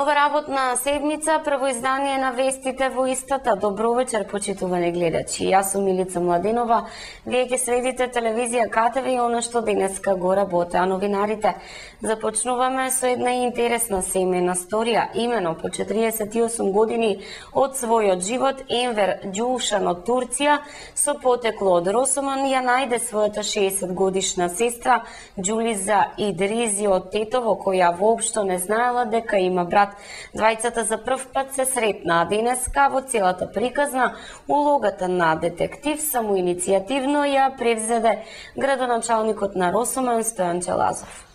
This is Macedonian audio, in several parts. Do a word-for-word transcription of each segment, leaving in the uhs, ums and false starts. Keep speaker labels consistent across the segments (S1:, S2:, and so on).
S1: Нова работна седмица, прво издание на вестите во истата. Добро вечер, почитувани гледачи. Јас сум Милица Младенова. Вие ќе следите телевизија КТВ и она што денеска го работи. А новинарите започнуваме со една интересна семејна сторија. Имено по четириесет и осум години од својот живот, Енвер Ѓушан од Турција со потекло од Росоман ја најде својата шеесет годишна сестра Ѓулиза Идризи од Тетово, која воопшто не знаела дека има брат. Двајцата за прв пат се сретнаа денеска во целата приказна. Улогата на детектив самоиницијативно ја превзеде градоначалникот на Росоман Стојан Челазов.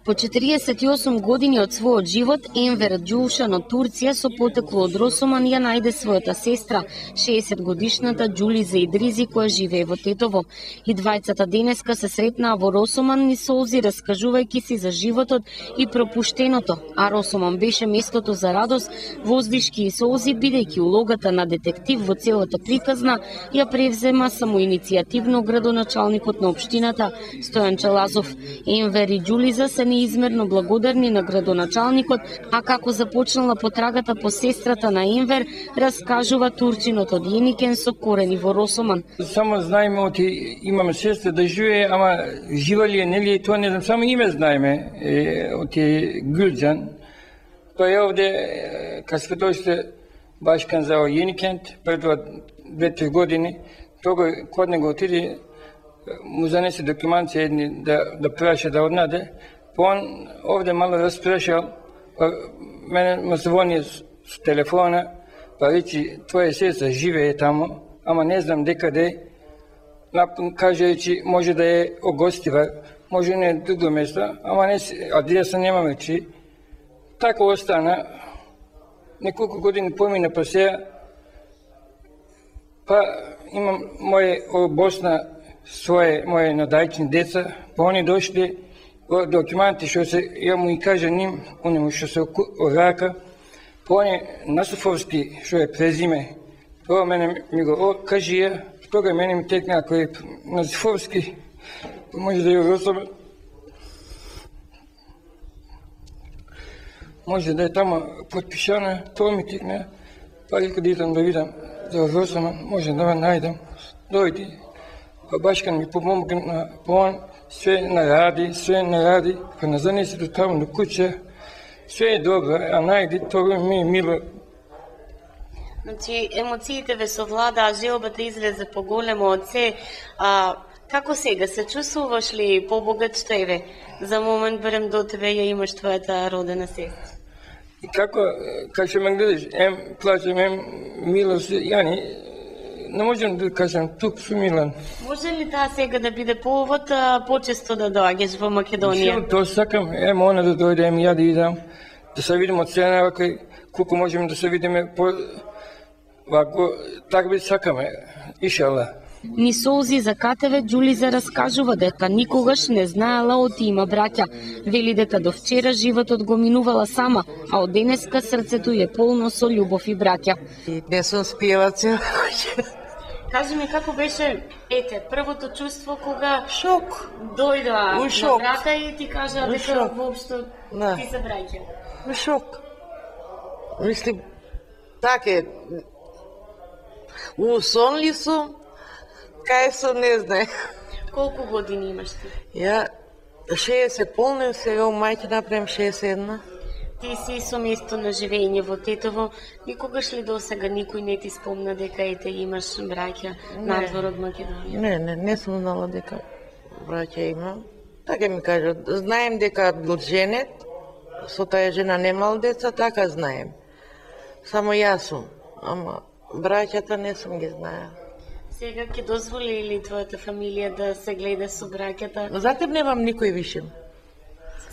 S1: По четириесет и осум години од својот живот, Енвер Ѓушан од Турција со потекло од Росоман ја најде својата сестра, шеесет годишната Ѓулиза Идризи, која живее во Тетово. И двајцата денеска се сретнаа во Росоман низ солзи, раскажувајќи си за животот и пропуштеното, а Росоман беше местото за радост, воздишки и солзи, бидејќи улогата на детектив во целата приказна ја превзема самоиницијативно градоначалникот на општината Стојан Челазов. Енвер и Ѓулиза се неизмерно благодарни на градоначалникот, а како започнала потрагата по сестрата на Енвер, раскажува турчинот од Јеникен со корени во Росоман.
S2: Само знаеме оти имаме сестра да живее, ама жива ли е, нели, тоа не знам, само име знаеме, е, оти Ѓулџан. Тоа е овде, кога сме дојшли башкан за Јеникент, пред две-три години, тога код него отиде, му занесе документи едни да, да праша да однаде. Он овде мало распрашал, па мене ме звони с телефона, па речи, твоја сестра живее таму, ама не знам дека де. Каже, речи, може да е огостива, може не друго место, ама не адреса немаме, че. Така остана, неколку години помина па сега, па имам моje Босна своje моje надајчни деца, па они дошли документи што се, ја му и кажа ним, онему што се рака, па они Насофовски што е презиме, тоа мене ми го кажи ја, тога мене ми текна ако е Насофовски, може да ја Росоман, може да е тама подпишана, тоа ми текна, па река да идам да видам за Росоман, може да ме најдам, дојди, па башкан ми помогна, па он све наради, све наради, па на занесе до таму до куќа, све е добро, а најди, тоа ми е мило.
S1: Значи, емоциите ве совладаа, желбата излезе поголемо од се. А, како сега, се чувствуваш ли побогат што еве? За момент барем до тебе ја имаш твојата родена сестра.
S2: И како, како што ме гледаш, ем плачем, ем милост, јани, не можем да кажам, тук сум милан.
S1: Може ли таа сега да биде повод почесто да доаѓаш во Македонија?
S2: Тоа сакам, ем она да дојде, ем ја да идам, да се видиме од сега вака, колку можеме да се видиме, по, вако, така би сакаме, иншалла.
S1: Ни солзи за КТВ Ѓулиза раскажува дека никогаш не знаела оти има браќа. Вели дека до вчера животот го минувала сама, а од денеска срцето е полно со љубов и браќа.
S3: Не сум спиела цел.
S1: Кажи ми како беше, ете, првото чувство кога
S3: Шок.
S1: дојдоа
S3: У шок.
S1: на брата и ти кажа
S3: У
S1: дека
S3: шок.
S1: воопшто
S3: Да.
S1: ти се браќа.
S3: У шок. Мислим, така е. У сон ли сум? Кај сум, не знае.
S1: Колку години имаш ти?
S3: Ја шеесет полнем, сега у мајке направим шеесет и една.
S1: Ти си со место на живење во Тетово. Никогаш ли до сега никој не ти спомна дека ете имаш браќа надвор од Македонија?
S3: Не, не, не сум знала дека браќа имам. Така ми кажат, знаем дека бил женет, со таа жена немал деца, така знаем. Само јас сум, ама браќата не сум ги знаел.
S1: Сега ќе дозволи ли твојата фамилија да се гледа со браќата?
S3: Затем немам никој више.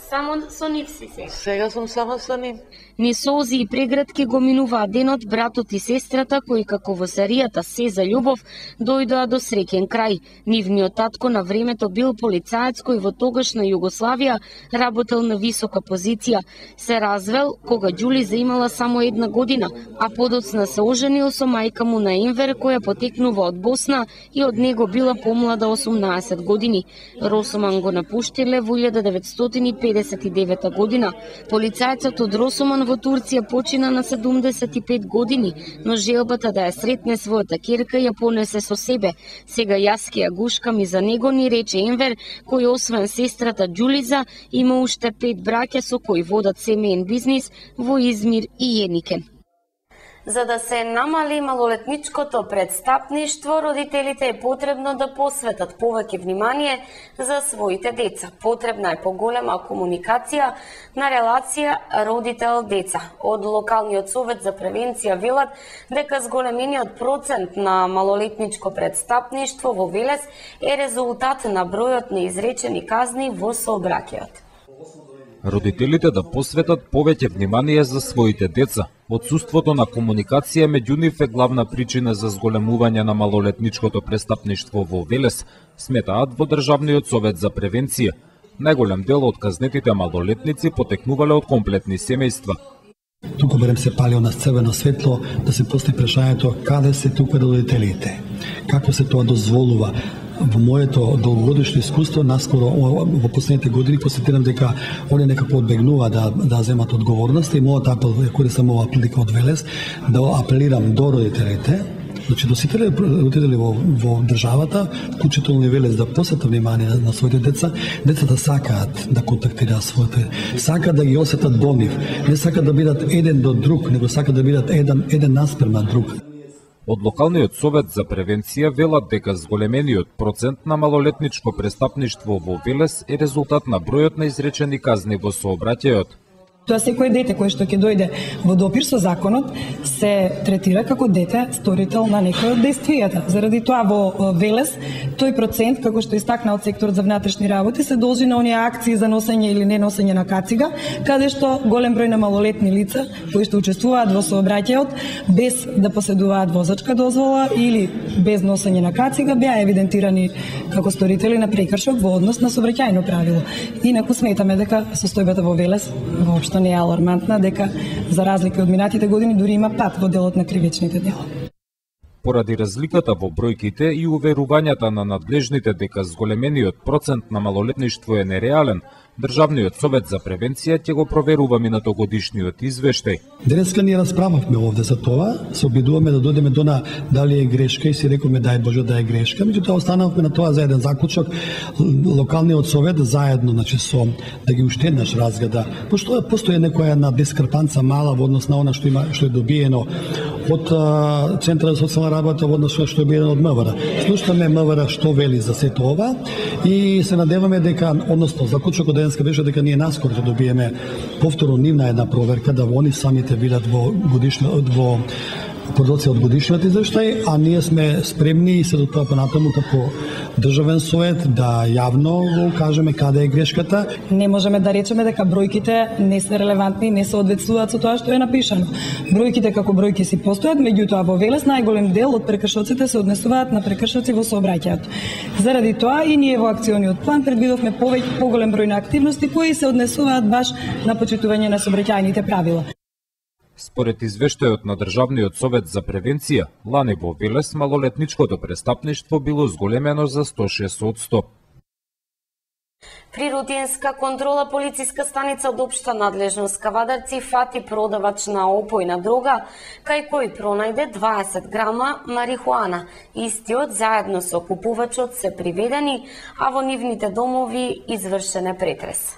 S1: Само со нив си сега.
S3: Сега сум само со нив.
S1: Ни солзи и прегратки го минуваа денот братот и сестрата кои како во серијата Се за љубов дојдоа до среќен крај. Нивниот татко на времето бил полицаец кој во тогашна Југославија работел на висока позиција. Се развел кога Ѓулиза имала само една година, а подоцна се оженил со мајка му на Енвер која потекнува од Босна и од него била помлада осумнаесет години. Росоман го напуштиле во илјада деветстотини и педесет деветдесет и девета година. Полицајецот од Росоман во Турција почина на седумдесет и пет години, но желбата да ја сретне својата ќерка ја понесе со себе. Сега јас ќе ја гушкам и за него, ни рече Енвер, кој освен сестрата Џулиза има уште пет браќа со кои водат семеен бизнис во Измир и Јеникен. За да се намали малолетничкото престапништво, родителите е потребно да посветат повеќе внимание за своите деца. Потребна е поголема комуникација на релација родител-деца. Од локалниот совет за превенција велат дека зголемениот процент на малолетничко престапништво во Велес е резултат на бројот на изречени казни во сообраќајот.
S4: Родителите да посветат повеќе внимание за своите деца. Отсуството на комуникација меѓу нив е главна причина за зголемување на малолетничкото престапништво во Велес, сметаат во Државниот совет за превенција. Најголем дел од казнетите малолетници потекнувале од комплетни семејства.
S5: Туку барем се пали на црвено светло да се постави прашањето каде се тука родителите. Како се тоа дозволува? Во моето долгогодишно искуство, наскоро во последните години посетирам дека они некако одбегнува да да земат одговорност и мојот апел, користам ова прилика од Велес, да апелирам до родителите, значи до сите родители во, во државата, вклучително и Велес, да посветат внимание на своите деца. Децата сакаат да контактираат своите, сакаат да ги осетат до нив, не сакаат да бидат еден до друг, него сакаат да бидат еден еден наспрема друг.
S4: Од локалниот совет за превенција велат дека зголемениот процент на малолетничко престапништво во Велес е резултат на бројот на изречени казни во сообраќајот.
S6: Тоа секој дете кој што ќе дојде во допир со законот се третира како дете сторител на некој од дејствијата. Заради тоа во Велес тој процент, како што истакна од секторот за внатрешни работи, се должи на оние акции за носење или не носење на кацига, каде што голем број на малолетни лица кои што учествуваат во сообраќајот без да поседуваат возачка дозвола или без носење на кацига беа евидентирани како сторители на прекршок во однос на сообраќајно правило. Инаку сметаме дека состојбата во Велес воопшто не е алармантна, дека за разлика од минатите години дури има пат во делот на кривичните дела.
S4: Поради разликата во бројките и уверувањата на надлежните дека зголемениот процент на малолетништво е нереален, Државниот совет за превенција ќе го проверува минатогодишниот извештај.
S5: Денеска ние расправавме овде за тоа, се обидуваме да дојдеме до на дали е грешка и си рекоме дај Боже да е грешка, меѓутоа останавме на тоа за еден заклучок, локалниот совет заедно, значи со да ги уште еднаш разгледа, пошто постои некоја една дискрепанца мала во однос на она што има што е добиено од Центарот за социјална работа во однос што е добиено од МВР. Слушаме МВР што вели за сето ова и се надеваме дека, односно заклучокот денеска беше дека ние наскоро ќе добиеме повторно нивна една проверка да они самите видат во годишно во продукција од годишниот извештај, а ние сме спремни и се до тоа понатаму како државен совет да јавно го кажеме каде е грешката.
S6: Не можеме да речеме дека бројките не се релевантни и не соодветствуваат со тоа што е напишано. Бројките како бројки си постојат, меѓутоа во Велес најголем дел од прекршоците се однесуваат на прекршоци во сообраќајот. Заради тоа и ние во акциониот план предвидовме повеќе поголем број на активности кои се однесуваат баш на почитување на сообраќајните правила.
S4: Според извештајот на Државниот совет за превенција, лани во Велес малолетничкото престапништво било зголемено за сто и шест одсто.
S1: При рутинска контрола полициска станица од општа надлежност Кавадарци фати продавач на опојна дрога, кај кој пронајде дваесет грама марихуана. Истиот заедно со купувачот се приведени, а во нивните домови извршен е претрес.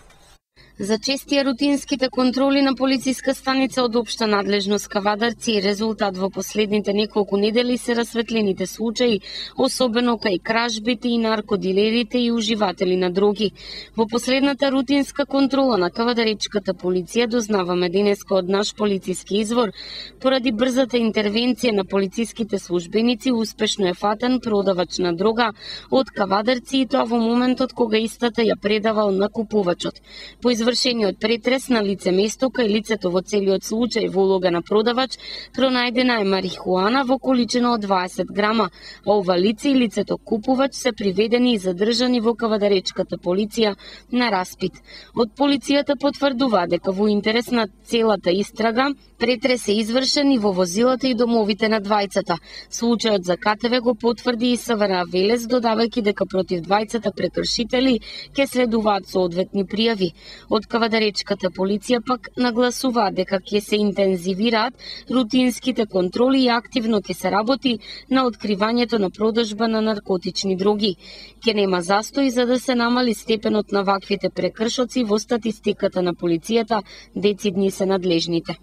S1: За честија рутинските контроли на полициска станица од општа надлежност Кавадарци и резултат во последните неколку недели се расветлените случаи, особено кај кражбите и наркодилерите и уживатели на дроги. Во последната рутинска контрола на кавадаречката полиција дознаваме денеска од наш полициски извор, поради брзата интервенција на полициските службеници успешно е фатен продавач на дрога од Кавадарци и тоа во моментот кога истата ја предавал на купувачот. По извршениот претрес на лице место кај лицето во целиот случај во улога на продавач пронајдена е марихуана во количина од дваесет грама, а ова лице и лицето купувач се приведени и задржани во кавадаречката полиција на распит. Од полицијата потврдува дека во интерес на целата истрага претрес е извршен и во возилата и домовите на двајцата. Случајот за КТВ го потврди и СВР Велес, додавајќи дека против двајцата прекршители ќе следуваат соодветни пријави. Од Кавадаречката полиција пак нагласуваат дека ќе се интензивираат рутинските контроли и активно ќе се работи на откривањето на продажба на наркотични дроги. Ќе нема застој за да се намали степенот на ваквите прекршоци во статистиката на полицијата, децидни се надлежните.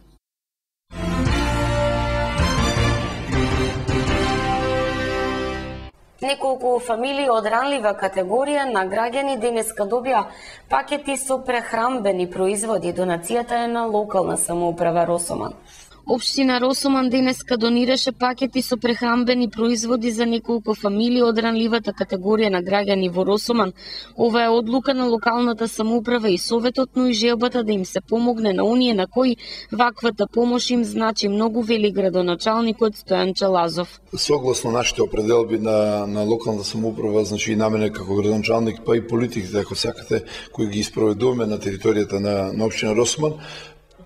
S1: Неколку фамилии од ранлива категорија на граѓани денеска добија пакети со прехрамбени производи. Донацијата е на локална самоуправа Росоман. Општина Росоман денеска донираше пакети со прехрамбени производи за неколку фамилии од ранливата категорија на граѓани во Росоман. Ова е одлука на локалната самоуправа и советот, но и желбата да им се помогне на оние на кои ваквата помош им значи многу, вели градоначалникот Стојан Чалазов.
S7: Согласно нашите определби на, на локалната самоуправа, значи и на мене како градоначалник, па и политиките, ако сакате, кои ги испроведуваме на територијата на, на општина Росоман,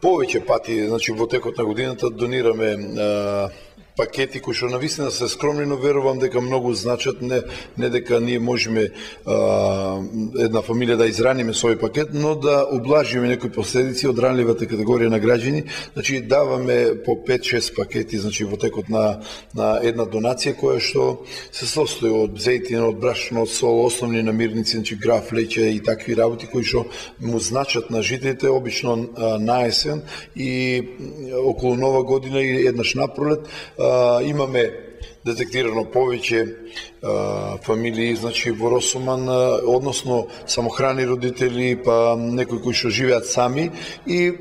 S7: повеќе пати, значи во текот на годината донираме а, пакети кои што навистина се скромни, но верувам дека многу значат, не, не дека ние можеме а, една фамилија да израниме со овој пакет, но да облажиме некои последици од ранливата категорија на граѓани. Значи даваме по пет-шест пакети, значи во текот на, на една донација која што се состои од зејтин, од брашно, од сол, основни намирници, значи граф, леќе и такви работи кои што му значат на жителите обично а, на есен и околу Нова година и еднаш на пролет. Uh, имаме детектирано повеќе а, фамилии, значи во Росоман, а, односно самохрани родители, па некои кои што живеат сами, и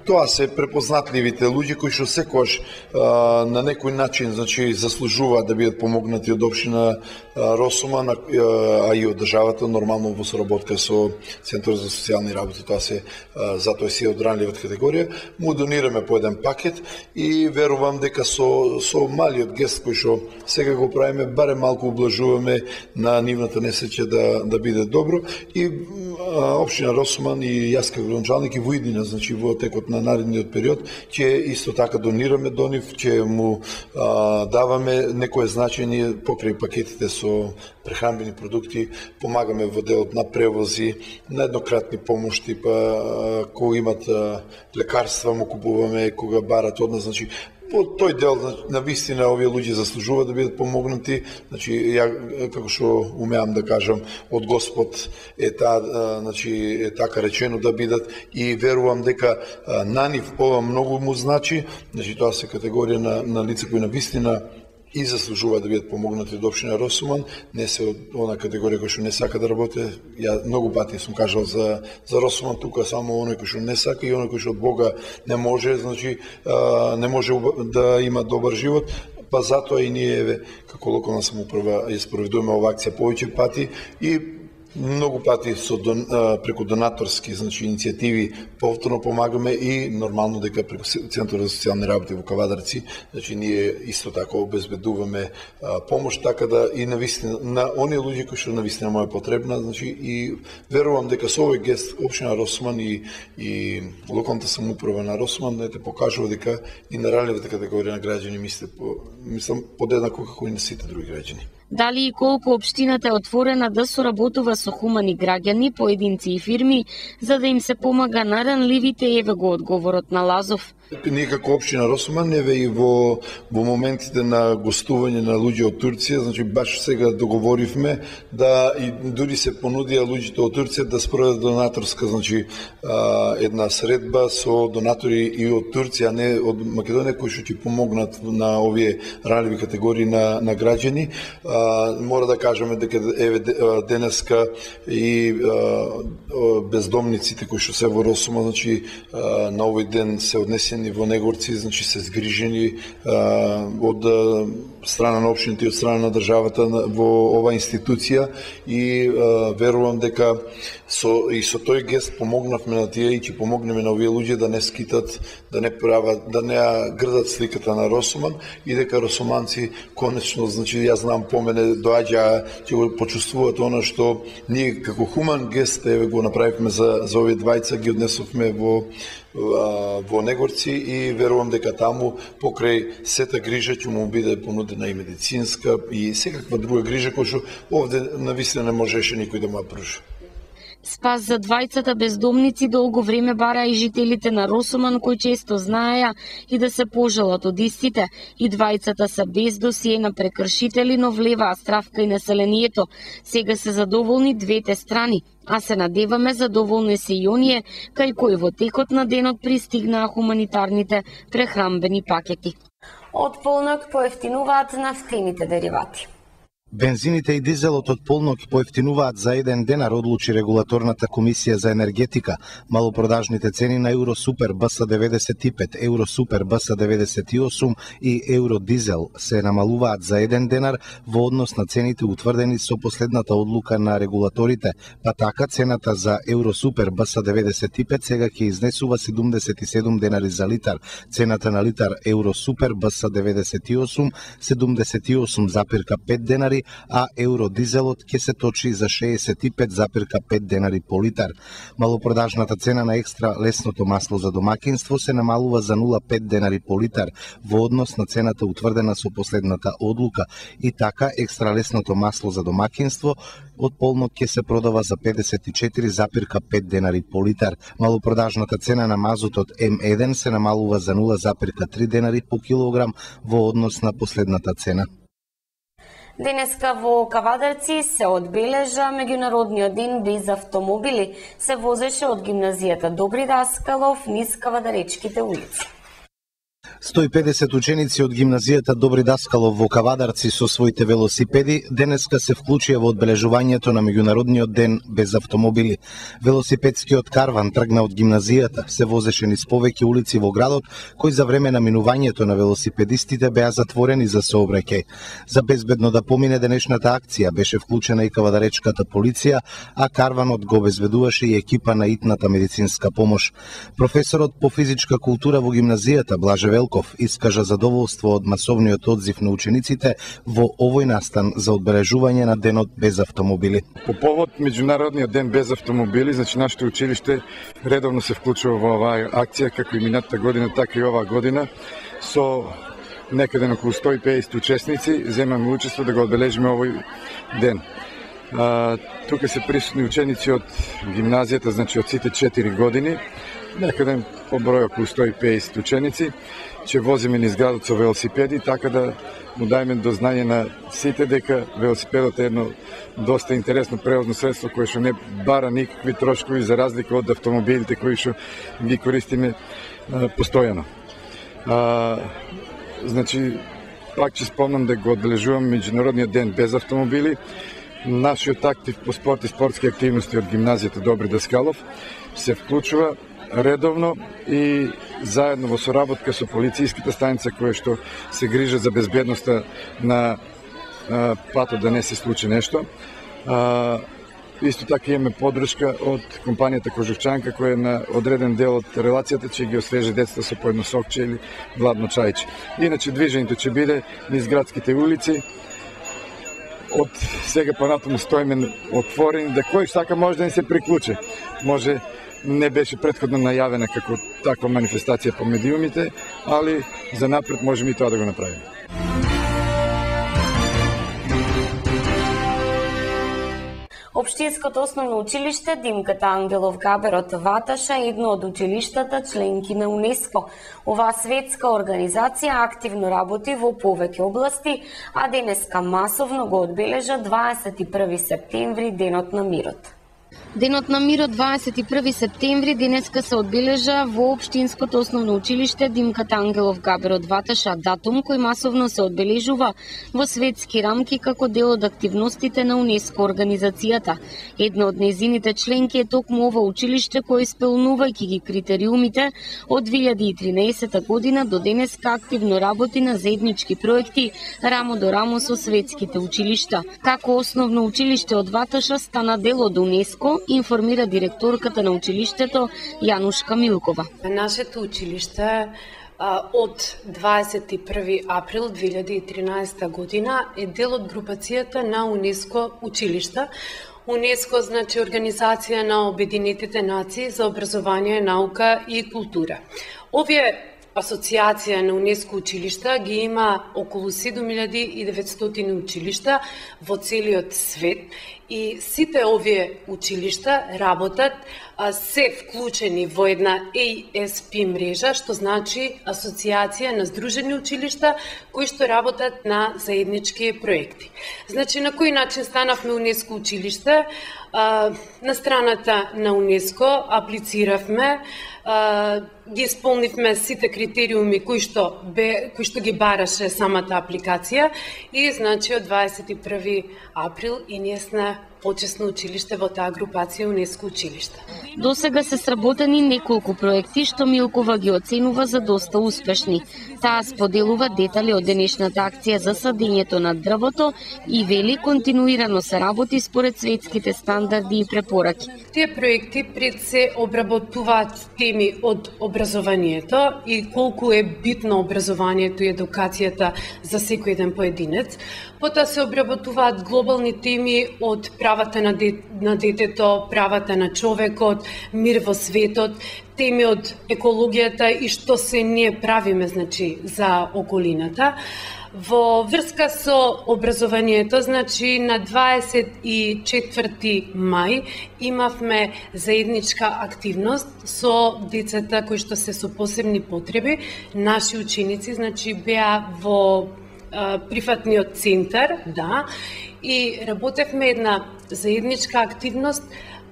S7: тоа се препознатливите луѓе кои што секогаш а, на некој начин, значи заслужуваат да бидат помогнати од општина Росоман, а, а и од државата, нормално во соработка со Центарот за социјални работи. Тоа се а, затоа си од ранливата категорија. Му донираме по еден пакет и верувам дека со со малиот гест кој што сега го правиме, барем малку облажуваме на нивната несреќа да, да биде добро. И а, општина Росоман и јас како градоначалник и во иднина, значи во текот на наредниот период, ќе исто така донираме до нив, ќе му а, даваме некое значење покрај пакетите со прехранбени продукти, помагаме во делот на превози, на еднократни помошти, па а, кога имат а, лекарства му купуваме, кога барат од нас, значи по тој дел на вистина овие луѓе заслужуваат да бидат помогнати. Значи ја како што умеам да кажам, од Господ е таа, значи е така речено да бидат, и верувам дека на нив ова многу му значи. Значи тоа се категорија на на лица кои на вистина и заслужуваат да бидат помогнати од општина Росоман, не се од она категорија кој што не сака да работи. Ја многу пати сум кажал за за Росоман, тука само оној кој што не сака и оној кој што од Бога не може, значи а, не може да има добар живот. Па затоа и ние еве како локална самоуправа ја спроведуваме оваа акција повеќе пати и многу пати со дон, преку донаторски, значи иницијативи повторно помагаме, и нормално дека преку Центарот за социјални работи во Кавадарци, значи ние исто така обезбедуваме а, помош, така да и навистина на оние луѓе кои што навистина му е потребна, значи и верувам дека со овој гест општина Росоман и и локалната самоуправа на Росоман да те покажува дека и на ранливата категорија на граѓани мисле по мислам подеднако како и на сите други граѓани.
S1: Дали и колку општината е отворена да соработува со хумани граѓани, поединци и фирми, за да им се помага на ранливите, еве го одговорот на Лазов.
S7: Ние како општина Росоман, еве и во во моментите на гостување на луѓе од Турција, значи баш сега договоривме да и дури се понудија луѓето од Турција да спроведат донаторска, значи а, една средба со донатори и од Турција, а не од Македонија, кои што ќе помогнат на овие ранливи категории на на граѓани. А, мора да кажеме дека еве денеска и а, бездомниците кои што се во Росоман, значи а, на овој ден се однесени во Негорци, значи се згрижени а, од а, страна на општините и од страна на државата во оваа институција, и а, верувам дека со и со тој гест помогнавме на тие и ќе помогнеме на овие луѓе да не скитат, да не прават, да не грдат сликата на Росоман, и дека росоманци конечно, значи јас знам по мене доаѓа, ќе го почувствуваат она што ние како хуман гест еве го направивме за за овие двајца, ги однесовме во во Негорци, и верувам дека таму покрај сета грижа ќе му биде понудена и медицинска и секаква друга грижа која што овде навистина не можеше никој да му ја пружи.
S1: Спас за двајцата бездомници долго време бараа и жителите на Росоман, кои често знаеа и да се пожалат од истите. И двајцата се без досие на прекршители, но влеваа стравка и населението. Сега се задоволни двете страни, а се надеваме задоволни се и оние кај кои во текот на денот пристигнаа хуманитарните прехранбени пакети. Од полнок поевтинуваат нафтените деривати.
S8: Бензините и дизелот од полнок поевтинуваат за еден денар, одлучи регулаторната комисија за енергетика. Малопродажните цени на Евросупер Б С деветдесет и пет, Евросупер Б С деветдесет и осум и Евродизел се намалуваат за еден денар во однос на цените утврдени со последната одлука на регулаторите, па така цената за Евросупер Б С деветдесет и пет сега ќе изнесува седумдесет и седум денари за литар. Цената на литар Евросупер Б С деветдесет и осум седумдесет и осум запирка пет денари, а евродизелот ќе се точи за шеесет и пет запирка пет денари по литар. Малопродажната цена на екстра лесното масло за домакинство се намалува за нула целу пет денари по литар во однос на цената утврдена со последната одлука. И така екстра лесното масло за домакинство од полнок ќе се продава за педесет и четири запирка пет денари по литар. Малопродажната цена на мазутот М еден се намалува за нула запирка три денари по килограм во однос на последната цена.
S1: Денеска во Кавадарци се одбележа меѓународниот ден без автомобили. Се возеше од гимназијата Добри Даскалов низ Кавадаречките улици.
S8: сто и педесет ученици од гимназијата Добри Даскалов во Кавадарци со своите велосипеди денеска се вклучија во одбележувањето на меѓународниот ден без автомобили. Велосипедскиот карван тргна од гимназијата, се возеше низ повеќе улици во градот, кои за време на минувањето на велосипедистите беа затворени за сообраќај. За безбедно да помине денешната акција беше вклучена и Кавадаречката полиција, а карванот го обезбедуваше и екипа на итната медицинска помош. Професорот по физичка култура во гимназијата Блаже Велков искажа задоволство од масовниот одзив на учениците во овој настан за одбележување на денот без автомобили.
S9: По повод меѓународниот ден без автомобили, значи нашето училиште редовно се вклучува во оваа акција, како и минатата година, така и оваа година, со некаде на околу сто и педесет учесници земаме учество да го одбележиме овој ден. А, тука се присутни ученици од гимназијата, значи од сите четири години, некаде по број околу сто и педесет ученици, че возиме низ градот со велосипеди, така да му дајме до знање на сите дека велосипедот е едно доста интересно превозно средство кое што не бара никакви трошкови за разлика од автомобилите кои што ги користиме а, постојано. А, значи, пак ќе спомнам да го одбележувам меѓународниот ден без автомобили. Нашиот актив по спорт и спортски активности од гимназијата Добри Даскалов се вклучува редовно и заедно во соработка со полицијската станица која што се грижа за безбедноста на а, патот да не се случи нешто. А, исто така имаме подршка од компанијата Кожухчанка која е на одреден дел од релацијата че ги освежи децата со по едно сокче или гладно чајче. Иначе движењето ќе биде низ градските улици. Од сега понатаму стоиме отворени да кој сака може да не се приклучи. Може не беше претходно најавена како таква манифестација по медиумите, али за напред можеме и тоа да го направиме.
S1: Општинското основно училиште Димката Ангелов Габер од Ваташа е едно од училиштата членки на УНЕСКО. Оваа светска организација активно работи во повеќе области, а денеска масовно го одбележа дваесет и први септември, Денот на мирот. Денот на мирот дваесет и први септември денеска се одбележа во Општинското основно училиште Димката Ангелов Габер од Ваташа, датум кој масовно се одбележува во светски рамки како дел од активностите на УНЕСКО организацијата. Една од незините членки е токму ова училиште кој исполнувајќи ги критериумите од две илјади и тринаесета година до денеска активно работи на заеднички проекти рамо до рамо со светските училишта. Како основно училиште од Ваташа стана дел од УНЕСКО, информира директорката на училиштето Јанушка Милкова.
S10: Нашето училиште од дваесет и први април две илјади и тринаесета година е дел од групацијата на УНЕСКО училишта. УНЕСКО значи Организација на Обединетите нации за образование, наука и култура. Овие асоциација на УНЕСКО училишта ги има околу седум илјади и деветстотини училишта во целиот свет и сите овие училишта работат, се вклучени во една А С П мрежа, што значи Асоциација на здружени училишта кои што работат на заеднички проекти. Значи, на кој начин станавме УНЕСКО училиште? На страната на УНЕСКО аплициравме, ги исполнивме сите критериуми кои што бе кои што ги бараше самата апликација и значи од дваесет и први април и ние сме почесно училиште во таа групација УНЕСКО училишта.
S1: До сега се сработени неколку проекти што Милкова ги оценува за доста успешни. Таа споделува детали од денешната акција за садењето на дрвото и вели континуирано се работи според светските стандарди и препораки.
S10: Тие проекти пред се обработуваат теми од образованието и колку е битно образованието и едукацијата за секој еден поединец. Потоа се обработуваат глобални теми од правата на, де, на детето, правата на човекот, мир во светот, теми од екологијата и што се ние правиме, значи, за околината. Во врска со образованието, значи на дваесет и четврти мај имавме заедничка активност со децата кои што се со посебни потреби. Наши ученици, значи, беа во прифатниот центар, да, и работевме една заедничка активност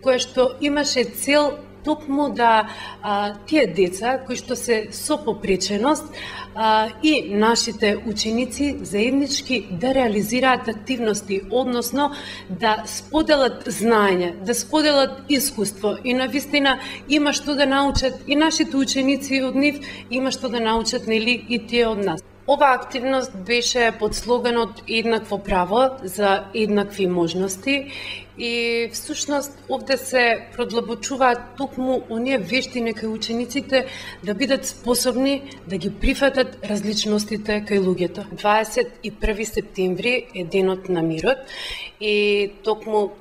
S10: која што имаше цел токму да а, тие деца кои што се со попреченост а, и нашите ученици заеднички да реализираат активности, односно да споделат знаење, да споделат искуство и навистина има што да научат и нашите ученици од нив, има што да научат, нели, и тие од нас. Ова активност беше под слоганот еднакво право за еднакви можности и всушност овде се продлабочуваат токму оние вештини кај учениците да бидат способни да ги прифатат различностите кај луѓето. дваесет и први септември е денот на мирот и токму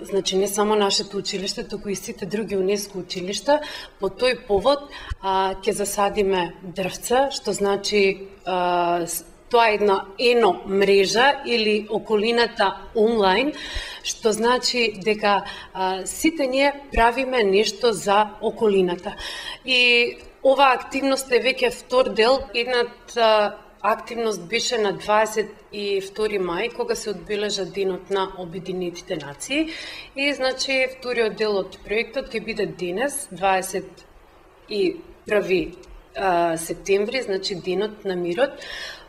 S10: значи не само нашето училиште, туку и сите други УНЕСКО училишта, по тој повод а, ќе засадиме дрвца, што значи а, тоа е една ено мрежа или околината онлайн, што значи дека а, сите ние правиме нешто за околината. И оваа активност е веќе втор дел, едната активност беше на дваесет и втори мај, кога се одбележа денот на Обединетите нации. И, значи, вториот дел од проектот ќе биде денес, дваесет и први септември, значи денот на мирот.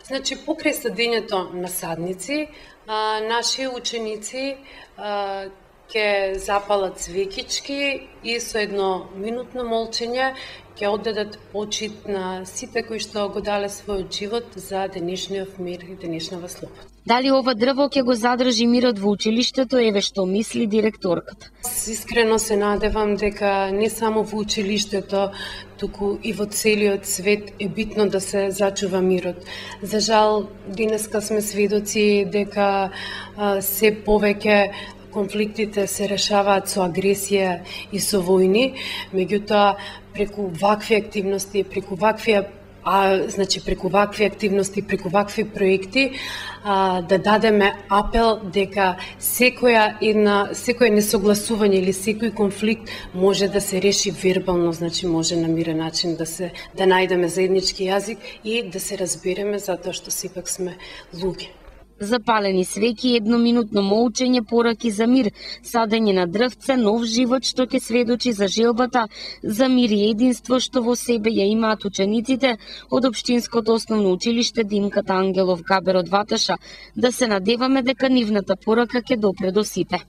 S10: Значи, покрај садењето на садници, а, наши ученици а, ќе запалат свекички и со едно минутно молчење ќе оддадат почит на сите кои што го дале својот живот за денешниот мир и денешната слобода.
S1: Дали ова дрво ќе го задржи мирот во училиштето, еве што мисли директорката.
S10: Искрено се надевам дека не само во училиштето, туку и во целиот свет е битно да се зачува мирот. За жал, денеска сме сведоци дека а, се повеќе конфликтите се решаваат со агресија и со војни, меѓутоа преку вакви активности, преку вакви а значи преку вакви активности, преку вакви проекти а, да дадеме апел дека секоја една секое несогласување или секој конфликт може да се реши вербално, значи може на мирен начин да се да најдеме заеднички јазик и да се разбереме затоа што сепак сме луѓе.
S1: Запалени свеќи, едноминутно молчење, пораки за мир, садење на дрвце, нов живот што ќе сведочи за желбата за мир и единство што во себе ја имаат учениците од Општинското основно училиште Димката Ангелов Габер од Ваташа, да се надеваме дека нивната порака ќе допре до сите.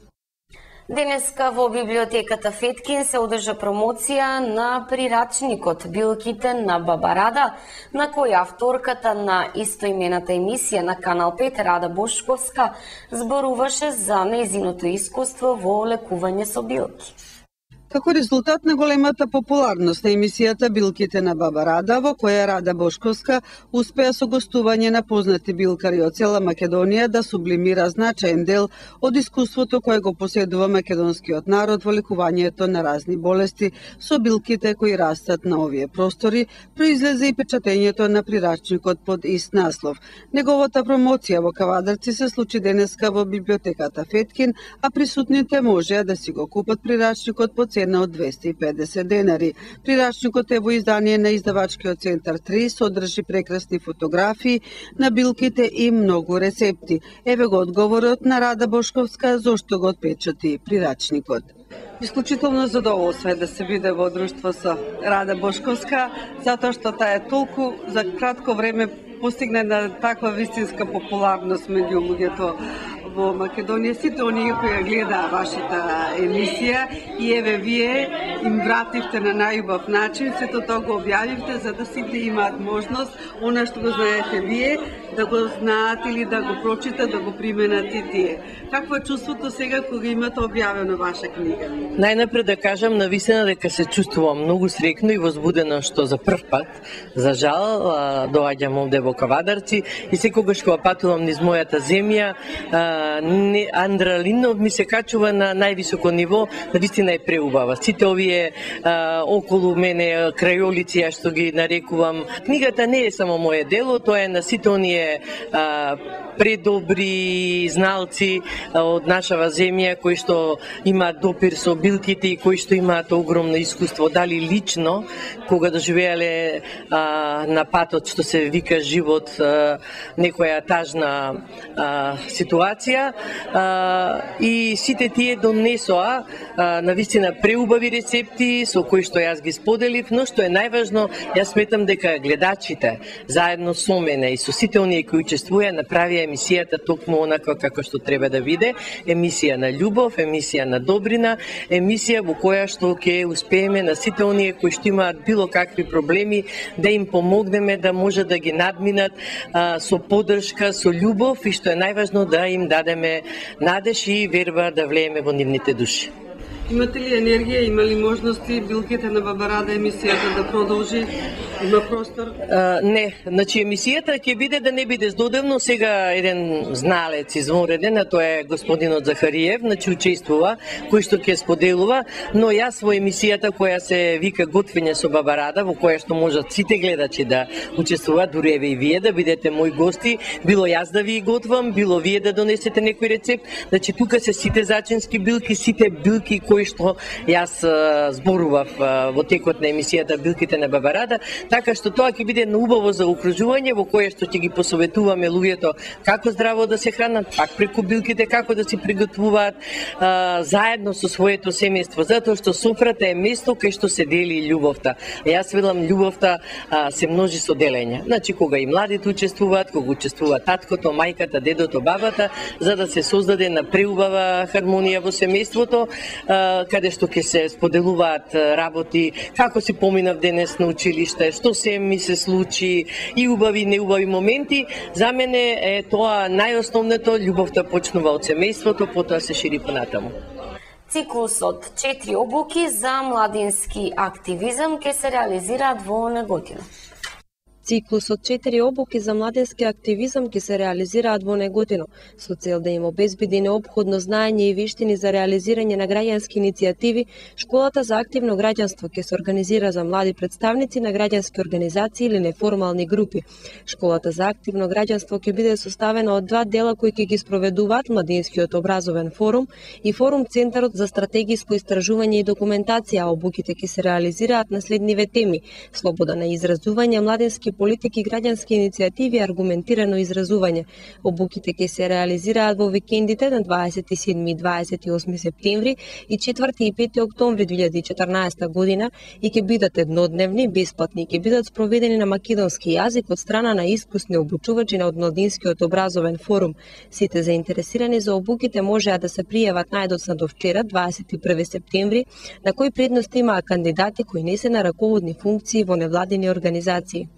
S11: Денеска во библиотеката Феткин се одржа промоција на прирачникот Билките на Баба Рада, на која авторката на истоимената емисија на Канал пет Рада Бошковска зборуваше за нејзиното искуство во лекување со билки.
S12: Како резултат на големата популарност на емисијата Билките на Баба Рада, во која Рада Бошковска успеа со гостување на познати билкари од цела Македонија да сублимира значаен дел од искуството кое го поседува македонскиот народ во лекувањето на разни болести со билките кои растат на овие простори, произлезе и печатењето на прирачникот под ист наслов. Неговата промоција во Кавадарци се случи денеска во библиотеката Феткин, а присутните можеа да си го купат прирачникот по цена од двесте и педесет денари. Прирачникот е во издание на издавачкиот центар три, содржи прекрасни фотографии на билките и многу рецепти. Еве го одговорот на Рада Бошковска зошто го отпечати прирачникот. Исклучително задоволство е да се биде во друштво со Рада Бошковска, затоа што таа е толку за кратко време постигна на таква вистинска популарност меѓу луѓето во Македонија. Сите оние кои ја гледаа вашата емисија и еве вие им вративте на најубав начин, сето тоа го објавивте за да сите имаат можност, она што го знаете вие, да го знаат или да го прочитат, да го применат и тие. Какво е чувството сега кога имате објавено ваша книга?
S3: Најнапред да кажам навистина дека се чувствувам многу среќно и возбудено што за прв пат, за жал, доаѓам овде во Кавадарци и секогаш кога патувам низ мојата земја, адреналинот ми се качува на највисоко ниво, навистина е преубава. Сите овие а, околу мене крајолици, ја што ги нарекувам. Книгата не е само моје дело, тоа е на сите оние а, предобри зналци од нашава земја кои што имаат допир со билките и кои што имаат огромно искуство, дали лично кога доживеале а, на патот што се вика живот, а, некоја тажна а, ситуација, а, и сите тие донесоа а, навистина преубави рецепти со кои што јас ги споделив, но што е најважно, јас сметам дека гледачите заедно со мене и со сите оние кои учествуваа направија емисијата токму онака како што треба да биде, емисија на љубов, емисија на добрина, емисија во која што ќе успееме на сите оние кои што имаат било какви проблеми да им помогнеме да може да ги надминат а, со подршка, со љубов и што е најважно да им дадеме надеж и верба да влееме во нивните души.
S12: Имате ли енергија, има ли можности Билките на Баба Рада емисијата да продолжи? Има простор?
S3: А, не, значи емисијата ќе биде да не биде здодевно. Сега еден зналец извонреден, а тоа е господинот Захариев, значи учествува, кој што ќе споделува, но јас во емисијата која се вика Готвење со Баба Рада, во која што можат сите гледачи да учествуваат, дури еве и вие да бидете мои гости, било јас да ви готвам, било вие да донесете некој рецепт, значи тука се сите зачински билки, сите билки кои што јас а, зборував а, во текот на емисијата Билките на Баба Рада, така што тоа ќе биде убаво за окружување во кое што ќе ги посоветуваме луѓето како здраво да се хранат, пак преку билките како да се приготвуваат а, заедно со своето семејство, затоа што софрата е место кај што се дели љубовта. Јас велам љубовта а, се множи со делење. Значи кога и младите учествуваат, кога учествува таткото, мајката, дедото, бабата, за да се создаде на преубава хармонија во семејството, а, каде што ќе се споделуваат работи, како си поминав денес на училиште, што се ми се случи и убави и неубави моменти. За мене е тоа најосновното, љубовта почнува од семејството, потоа се шири понатаму.
S11: Циклусот четири обуки за младински активизам ќе се реализираат во Неготино.
S13: Циклусот четири обуки за младински активизам ќе се реализираат во Неготино, со цел да им обезбеди неопходно знаење и вештини за реализирање на граѓански иницијативи. Школата за активно граѓанство ќе се организира за млади представници на граѓански организации или неформални групи. Школата за активно граѓанство ќе биде составена од два дела кои ќе ги спроведуваат Младинскиот образовен форум и форум Центарот за стратегиско истражување и документација. Обуките ќе се реализираат на следниве теми: слобода на изразување, младински политики, граѓански иницијативи и аргументирано изразување. Обуките ќе се реализираат во викендите на дваесет и седми и дваесет и осми септември и четврти и пети октомври две илјади и четрнаесета година и ќе бидат еднодневни, бесплатни, ќе бидат спроведени на македонски јазик од страна на искусни обучувачи од Младинскиот образовен форум. Сите заинтересирани за обуките можеа да се пријават најдоцна до вчера, дваесет и први септември, на кои предност имаа кандидати кои не се на раководни функции во невладини организации.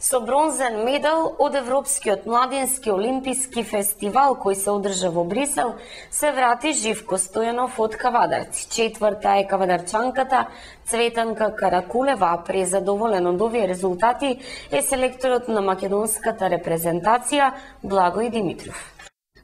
S11: Со бронзен медал од Европскиот младински олимписки фестивал кој се одржа во Брисел, се врати Живко Стојанов од Кавадарци. Четврта е кавадарчанката Цветанка Каракулева. Презадоволен од овие резултати е селекторот на македонската репрезентација Благој Димитров.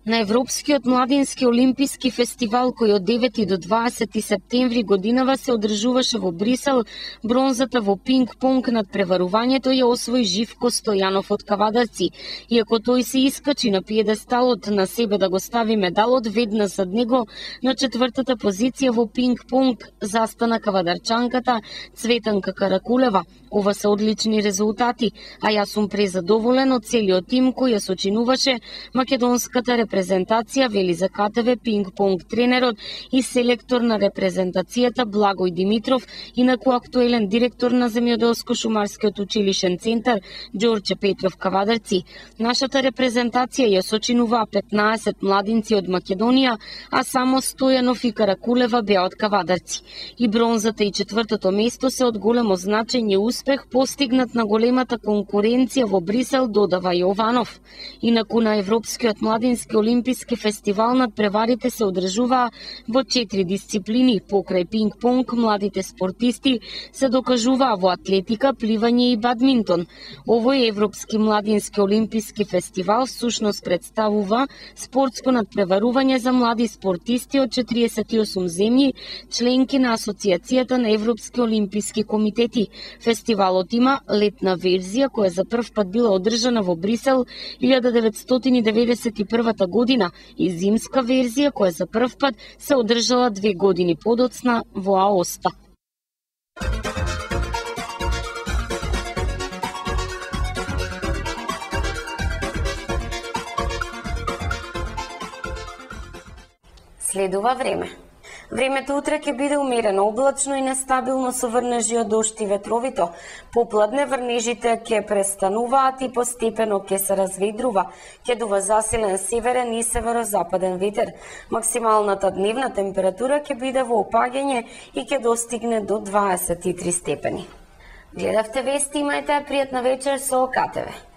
S11: На Европскиот младински олимписки фестивал кој од девети до дваесети септември годинава се одржуваше во Брисел, бронзата во пинг-понг над преварувањето ја освои Живко Стојанов од Кавадарци. Иако тој се искачи на пиедесталот на себе да го стави медалот, веднаш зад него на четвртата позиција во пинг-понг застана кавадарчанката Цветанка Каракулева. Ова се одлични резултати, а јас сум презадоволен од целиот тим кој ја сочинуваше македонската репрезентација, вели за КТВ пинг-понг тренерот и селектор на репрезентацијата Благој Димитров, инаку актуелен директор на Земјоделско-шумарскиот училишен центар Ѓорче Петров Кавадарци. Нашата репрезентација ја сочинуваа петнаесет младинци од Македонија, а само Стојанов и Каракулева беа од Кавадарци. И бронзата и четвртото место се од големо значење успех постигнат на големата конкуренција во Брисел, додава Јованов. Инаку на Европскиот младински олимписки фестивал над преварите се одржуваа во четири дисциплини. Покрај пинг-понг, младите спортисти се докажуваа во атлетика, пливање и бадминтон. Овој Европски младински олимписки фестивал всушност представува спортско надпреварување за млади спортисти од четириесет и осум земји, членки на Асоциацијата на Европски олимписки комитети. Фестивалот има летна верзија која за прв пат била одржана во Брисел илјада деветстотини деветдесет и првата година и зимска верзија која за прв пат се одржала две години подоцна во Аоста. Следува време. Времето утре ќе биде умерено облачно и нестабилно со врнежи од дожд и ветровито. Попладне врнежите ќе престануваат и постепено ќе се разведрува. Ќе дува засилен северен и северозападен ветер. Максималната дневна температура ќе биде во опаѓање и ќе достигне до дваесет и три степени. Гледавте вести, имајте пријатна вечер со КТВ.